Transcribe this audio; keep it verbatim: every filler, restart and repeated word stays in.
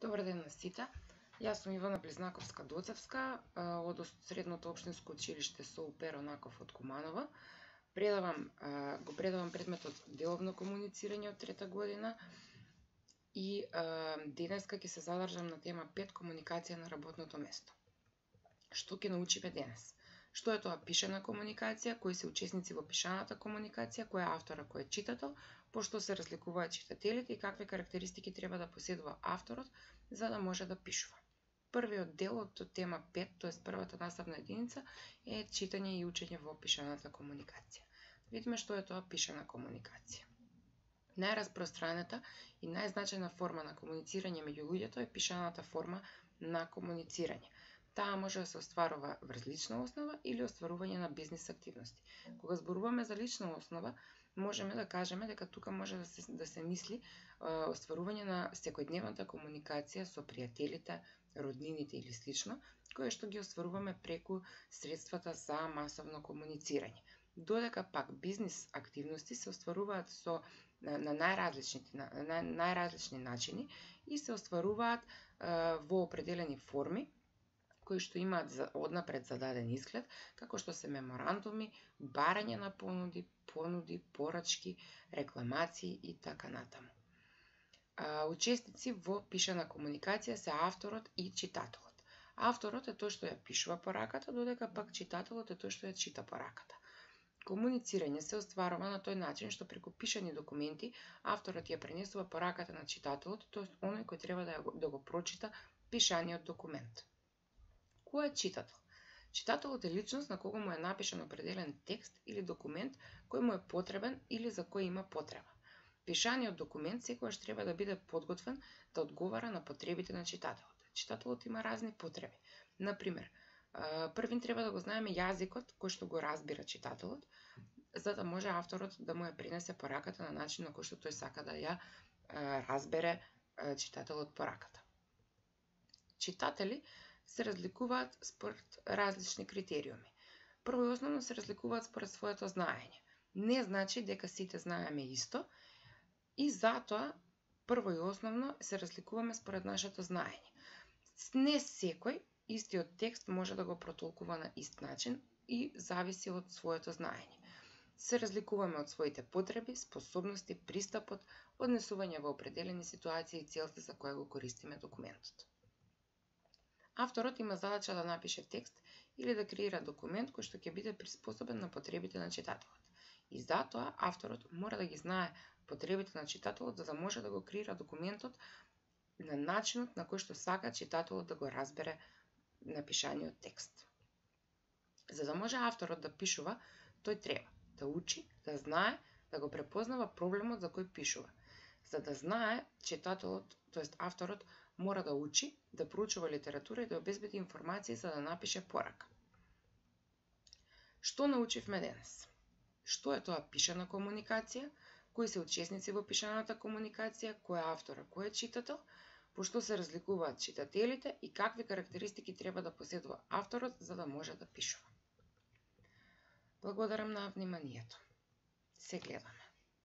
Добар ден на сите. Јас сум Ивана Близнаковска-Доцевска од Средното општинско училиште со Перонаков од Куманово. Предавам, го предавам предметот деловно комуницирање од трета година и денеска ќе се задржам на тема пет комуникација на работното место. Што ќе научиме денес? Што е тоа пишана комуникација, кои се учесници во пишаната комуникација, кој е автора, кој е читател, пошто се разликуваат читателите и какви карактеристики треба да поседува авторот за да може да пишува. Првиот дел од тема пет, тоест првата наставна единица, е читање и учење во пишаната комуникација. Видиме што е тоа пишана комуникација. Најраспространета и најзначајна форма на комуницирање меѓу луѓето е пишаната форма на комуницирање. Таа може да се остварува врз лична основа или остварување на бизнис активности. Кога зборуваме за лична основа, можеме да кажеме дека тука може да се, да се мисли е, остварување на секојдневната комуникација со пријателите, роднините или слично, кое што ги остваруваме преку средствата за масовно комуницирање. Додека пак бизнис активности се остваруваат со на, на најразлични на, на најразлични начини и се остваруваат е, во определени форми кои што имаат однапред зададен изглед, како што се меморандуми, барање на понуди, понуди, порачки, рекламации и така натаму. Учесници во пишана комуникација се авторот и читателот. Авторот е тој што ја пишува пораката, додека пак читателот е тој што ја чита пораката. Комуницирање се остварува на тој начин што преку пишани документи авторот ја пренесува пораката на читателот, тоест оној кој треба да, да го прочита пишаниот документ. Кој е читател? Читателот е личност на кого му е напишан определен текст или документ кој му е потребен или за кој има потреба. Пишаниот документ секогаш треба да биде подготвен да одговара на потребите на читателот. Читателот има разни потреби. Например, првин треба да го знаеме јазикот кој што го разбира читателот, за да може авторот да му ја пренесе пораката на начин на кој што тој сака да ја разбере читателот пораката. Читатели се разликуваат според различни критериуми. Прво и основно се разликуваат според своето знаење. Не значи дека сите знаеме исто и затоа прво и основно се разликуваме според нашето знаење. Не секој истиот текст може да го протолкува на ист начин и зависи од своето знаење. Се разликуваме од своите потреби, способности, пристапот, однесување во определени ситуации и целта за која го користиме документот. Авторот има задача да напише текст или да креира документ кој што ќе биде приспособен на потребите на читателот. И затоа авторот мора да ги знае потребите на читателот за да може да го креира документот на начинот на кој што сака читателот да го разбере напишаниот текст. За да може авторот да пишува, тој треба да учи, да знае, да го препознава проблемот за кој пишува. За да знае, читателот, тоест авторот, мора да учи, да проучува литература и да обезбеди информации за да напише порака. Што научивме денес? Што е тоа пишана комуникација? Кои се учесници во пишаната комуникација? Кој е автора? Кој е читател? Пошто се разликуваат читателите и какви карактеристики треба да поседува авторот за да може да пишува? Благодарам на вниманието. Се гледаме.